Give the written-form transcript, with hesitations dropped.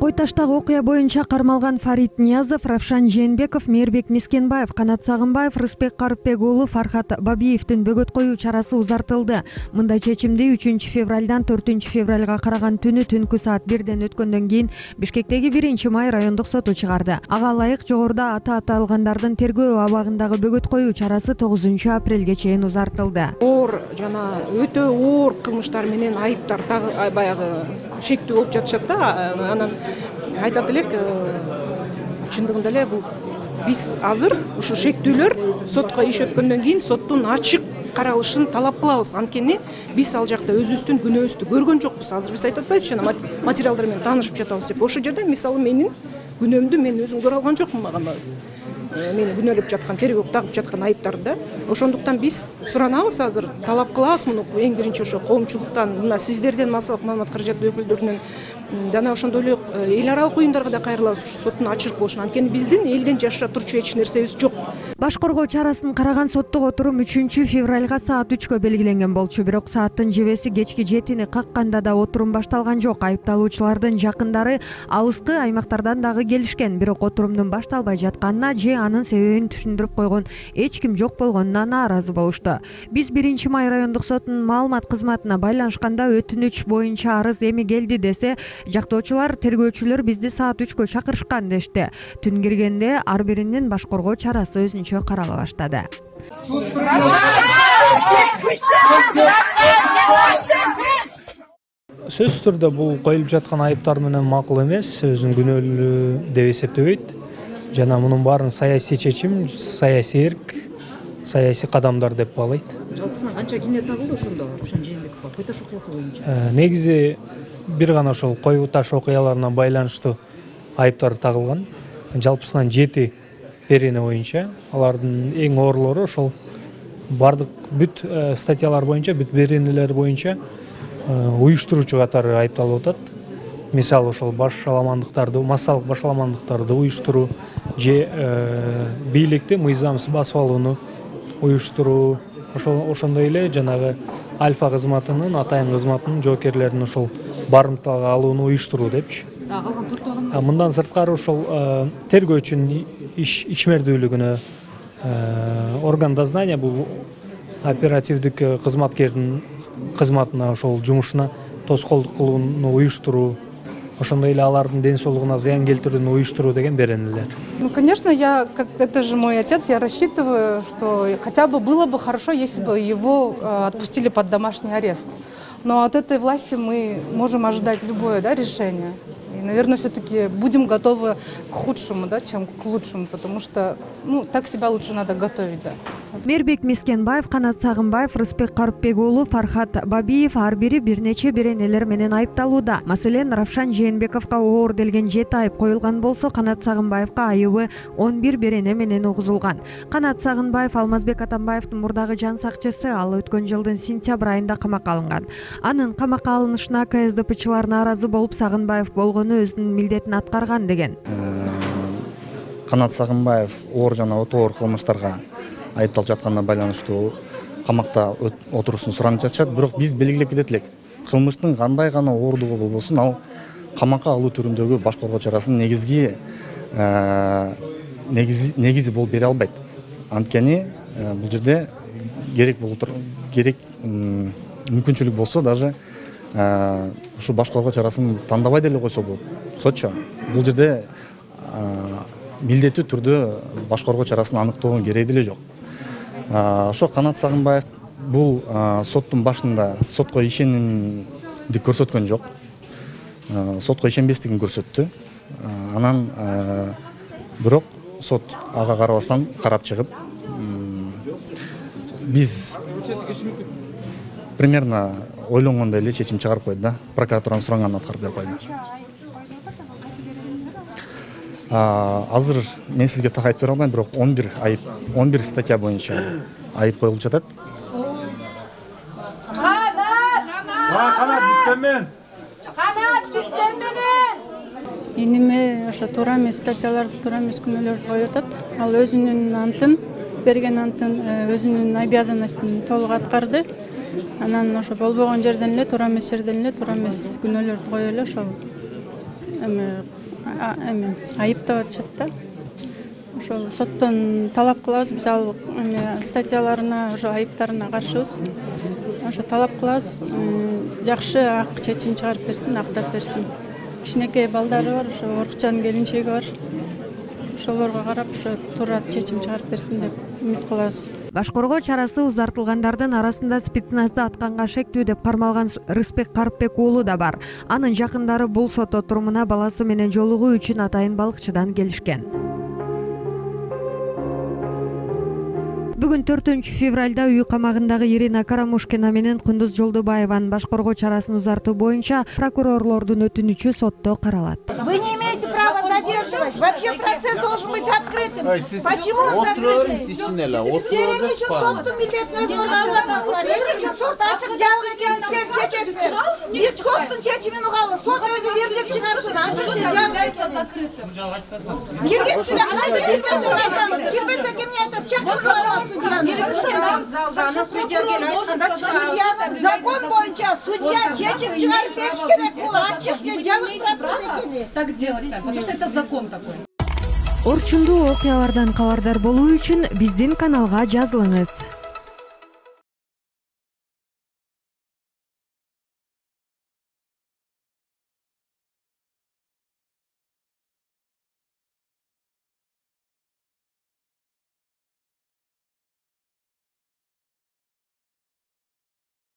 Кой таштагы окуя боюнча кармалган Фарид Ниязов, Равшан Жээнбеков, Мээрбек Мискенбаев, Канат Сагынбаев, Рыспек Карыпбек уулу Фархат Бабиевдин бөгөт коюу чарасы узартылды. Мындай чечимди 3 февралдан 4 февралга караган түнү түнкү саат 1ден өткөндөн кийин Бишкектеги 1-май райондук соту чыгарды. Ага ылайык жогоруда аталгандардын тергөө абагындагы бөгөт коюу чарасы 9 апрелге чейин узартылды. Оор жана өтө оор кылмыштар менен айыптар баягы шектүү болуп жатышат да. Анан айтат элек, чындыгында эле бул биз азыр ушу шектүүлөр сотко иш өткөндөн кийин соттун ачык каралышын талап кылабыз. Анткени биз ал жакта өзүбүздүн күнөөбүздү көргөн жокпуз. Азыр биз айтып атпайбызбы, жана материалдар менен таанышып жатабыз деп. Ошол жерде мисалы менин күнөөмдү мен өзүм көрө алган жокмун, мага мени күнөөлөп жаткан, тергөөгө тагып жаткан айыптарды. Ошондуктан биз суранабыз, азыр талап кылабыз муну эң биринчи ошо коомчулуктан, мына сиздерден, массалык маалымат каражаты өкүлдөрүнөн, жана ошондой эле эл аралык уюмдарга да кайрылабыз ушу соттун ачык болушуна. Анткени биздин элден жашыра турчу эч нерсебиз жок. Баш коргоо чарасын караган соттук отурум 3 февралга саат 3кө белгиленген болчу, бирок сааттын жебеси кечки 7-ни какканда да отурум башталган жок. Айыпталуучулардын жакындары алыскы аймактардан дагы келишкен, бирок отурумдун башталбай жатканына же анын себебин түшүндүрүп койгон эч ким жок болгонуна нааразы болушту. Биз 1-май райондук сотунун маалымат кызматына байланышканда өтүнүч боюнча арыз эми келди десе, жактоочулар тергөөчүлөр бизди саат 3кө чакырышкан дешти. Түн киргенде ар биринин баш коргоо чарасы өзүнчө карала баштады. Сөзсүз түрдө бул коюлуп жаткан айыптар менен макул эмес, өзүн күнөөлүү деп эсептебейт. Жана мунун баарын саясий чечим, саясий эрк, саясий кадамдар деп баалайт. Жалпысынан канча кине тагылды ошондо Равшан Жээнбековго кой таш окуясы боюнча? Негизи бир гана ошол кой таш окуяларына байланыштуу айыптар тагылган. Жалпысынан 7 перене боюнча, алардын эң оорлору ошол бардык бүт статьялар боюнча, бүт перенелер боюнча уюштуруучу катары айыпталып атат. Мисалы ошол башаламандыктарды, массалык башаламандыктарды уюштуруу же бийликти мыйзамсыз басып алууну уюштуруу, ошондой эле жанагы Альфа кызматынын, Атайын кызматынын жоокерлерин ошол барымтага алууну уюштуруу депчи. Калган төртөгүн Мындан сырткары ошол тергөөчүнүн ишмердүүлүгүнө, орган дознания бул оперативдик кызматкердин кызматына, ошол жумушуна тоскоолдук кылууну уюштуруу, ошондой эле алардын ден соолугуна зыян келтирүүнү уюштуруу деген беренелер. Ну, конечно, это же мой отец, я рассчитываю, что хотя бы было бы хорошо, если бы его отпустили под домашний арест. Но от этой власти мы можем ожидать любое, да, решение. И, наверное, все-таки будем готовы к худшему, да, чем к лучшему, потому что, ну, так себя лучше надо готовить, да. Мээрбек Мискенбаев, Канат Сагынбаев, Рыспек Карыпбек уулу Фархат Бабиев ар бири бир нече беренелер менен айыпталууда. Маселен, Равшан Жээнбековго оор делген 7 айып коюлган болсо, Канат Сагынбаевга айыбы 11 берене менен угузулган. Канат Сагынбаев Алмазбек Атамбаевдин мурдагы жан сакчысы, ал өткөн жылдын сентябрь айында камакка алынган. Анын камакка алынышына КСДПчылар нааразы болуп, Сагынбаев болгону өзүнүн милдетин аткарган деген. Канат Сагынбаев оор жана өтө оор кылмыштарга айыпталып жатканына байланыштуу камакта отуруусун суранып жатышат. Бирок биз белгилеп кетет элек, кылмыштын кандай гана оорлугу болбосун, ал камакка алуу түрүндөгү баш коргоо чарасын негизи болуп бере албайт. Анткени бул жерде керек мүмкүнчүлүк болсо, даже ушу баш коргоо чарасын тандабай деле койсо болот. Сотчу бул жерде милдеттүү түрдө баш коргоо чарасын аныктоонун кереги деле жок. Ошо Канат Сагынбаев бул соттун башында сотко ишенимди көрсөткөн жок. Сотко ишенбестигин көрсөттү. Анан бирок сот ага карабастан карап чыгып, биз примерно ойлонгондой эле чечим чыгарып койду да. Прокуратуранын суранганын аткарып берип койду. Азыр мен сизге так айтып бере албайм, бирок 11 статья боюнча айып коюлуп жатат. Канат Бисеммен. Иниме ошо туура эмес статьяларды, туура эмес күнөөлөрдү коюп атат. Ал өзүнүн антын, берген антын, өзүнүн обязанностун толук аткарды. Анан ошо болбогон жерден эле, туура эмес жерден эле туура эмес күнөөлөрдү коюп эле ошол эме айыптап атышат да. Ошол соттон талап кылабыз, биз ал статьяларына, ошо айыптарына каршыбыз. Ошо талап кылабыз, жакшы ак чечим чыгарып берсин, актап берсин. Кичинекей балдары бар, ошо Оркучанын келинчеги бар. Ошолорго карап, ошо туура чечим чыгарып берсин деп үмүт кылабыз. Башкоргоо чарасы узартылгандардын арасында спецназды атканга шектүү деп кармалган Рыспек Карпбек уулу да бар. Анын жакындары бул сот отурумуна баласы менен жолугуу үчүн атайын балыкчыдан келишкен. Бүгүн 4-февралда үй камагындагы Ирина Карамушкина менен Кундуз Жолдубаеванын башкоргоо чарасын узартуу боюнча прокурорлордун өтүнүчү сотто каралат. Вы не имеете права задерживать. Вообще процесс должен быть открытым. Почему он закрытый? Сенин үчүн соттун милдетин өзгөргөн. Сенин үчүн сот ачык жабык экенин силер чечесиздер. Биз соттун чечимин угалы. Сот өзү вердикт чыгарсын. Ачык же жабык экенин. Киргизсилер, кайтып кирбесин айтамыз. Кирбесе кимге айтат? Чакырып аласыз судьяны. Судьянын закон боюнча судья чечим чыгарып бериш керек. Бул ачык же жабык процесс экени. Так делать, потому что это закон такой. Орчундуу окуялардан кабардар болуу үчүн биздин каналга жазылыңыз.